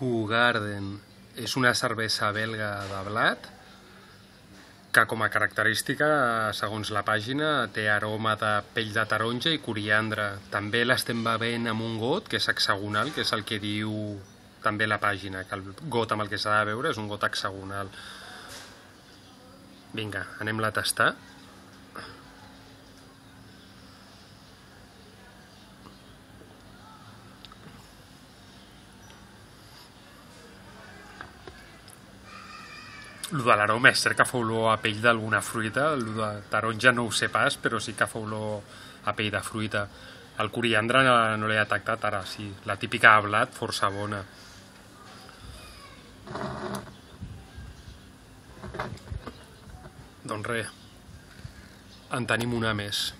Hoegaarden és una cervesa belga de blat que com a característica, segons la pàgina, té aroma de pell de taronja i coriandre. També l'estem bevent amb un got, que és hexagonal, que és el que diu també la pàgina, que el got amb el que s'ha de beure és un got hexagonal. Vinga, anem-la a tastar. El de l'aroma és cert que fa olor a pell d'alguna fruita, el de taronja no ho sé pas, però sí que fa olor a pell de fruita. El coriandre no l'he detectat, ara sí, la típica de blat, força bona. Doncs res, en tenim una més.